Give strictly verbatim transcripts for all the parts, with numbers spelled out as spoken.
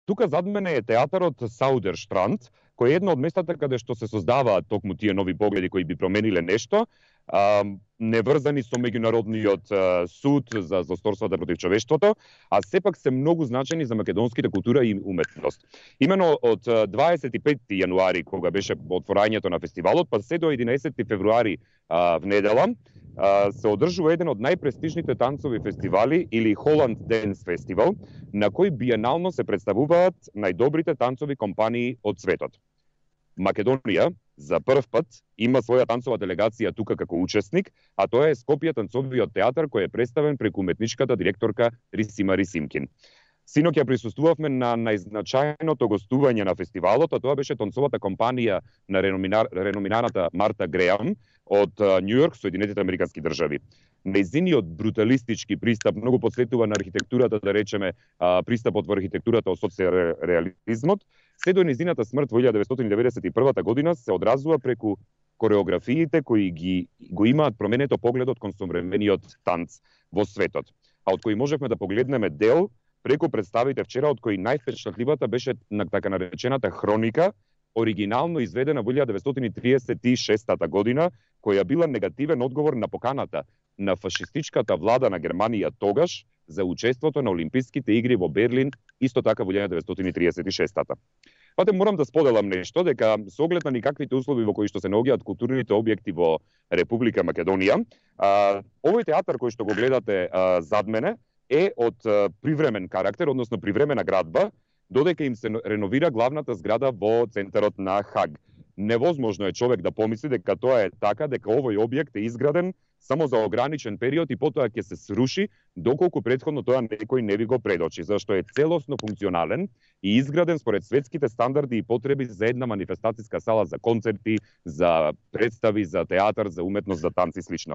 тука зад мене е театарот Саудерштранд, кој е едно од местата каде што се создаваат токму тие нови погледи кои би промениле нешто, а, неврзани со меѓународниот а, суд за злосторствата против човештвото, а сепак се многу значени за македонските култура и уметност. Имено од дваесет и петти јануари, кога беше отворањето на фестивалот, па се до единаесетти февруари а, в недела, а, се одржува еден од најпрестижните танцови фестивали или Holland Dance Festival, на кој биенално се представуваат најдобрите танцови компании од светот. Македонија за прв пат има своја танцова делегација тука како учесник, а тоа е Скопје танцовиот театар кој е представен преку уметничката директорка Рисима Рисимкин. Синоќа присуствувавме на најзначајното гостување на фестивалот, а тоа беше танцовата компанија на реноминар, реноминаната Марта Греам од Њујорк, Соединетите Американски држави. Нејзиниот бруталистички пристап многу подсетува на архитектурата, да речеме, пристапот во архитектурата од социјализмот, се до нејзината смрт во илјада деветстотини деветдесет и прва година се одразува преку кореографиите кои ги го имаат променето погледот кон современиот танц во светот, а од кои можевме да погледнеме дел преку представите вчера, од кои највпечатливата беше на така наречената хроника, оригинално изведена во илјада деветстотини триесет и шеста година, која била негативен одговор на поканата на фашистичката влада на Германија тогаш за учеството на Олимписките игри во Берлин, исто така во илјада деветстотини триесет и шеста. Пате морам да споделам нешто, дека со оглед на никаквите услови во кои што се наоѓаат културните објекти во Република Македонија, а, овој театар кој што го гледате а, зад мене е од а, привремен карактер, односно привремена градба, додека им се реновира главната зграда во центарот на Хаг. Невозможно е човек да помисли дека тоа е така, дека овој објект е изграден само за ограничен период и потоа ќе се сруши, доколку претходно тоа некој не ви го предочи, зашто е целосно функционален и изграден според светските стандарди и потреби за една манифестацијска сала за концерти, за представи, за театар, за уметност, за танци и слично.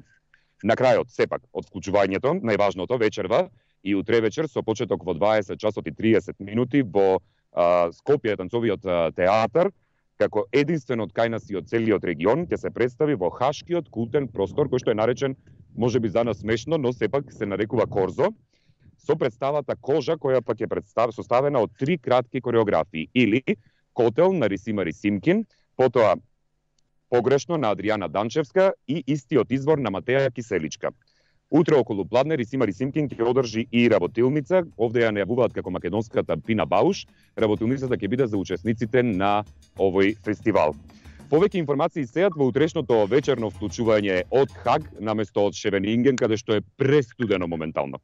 На крајот, сепак, од вклучувањето, најважното вечерва и утре вечер со почеток во дваесет часот и триесет минути во а, Скопје танцовиот а, театар, како единствен од кај нас и од целиот регион, ќе се представи во Хашкиот култен простор, кој што е наречен, можеби за нас смешно, но сепак се нарекува Корзо, со представата Кожа, која пак е представ, составена од три кратки кореографии, или Котел на Рисима Рисимкин, потоа Погрешно на Адријана Данчевска и Истиот извор на Матеја Киселичка. Утре околу пладне Рисима Рисимкин ќе одржи и работилница, овде ја најавуваат како македонската Пина Бауш. Работилницата ќе биде за учесниците на овој фестивал. Повеќе информации сеат во утрешното вечерно вклучување од Хаг наместо од Шевенинген, каде што е престудено моментално.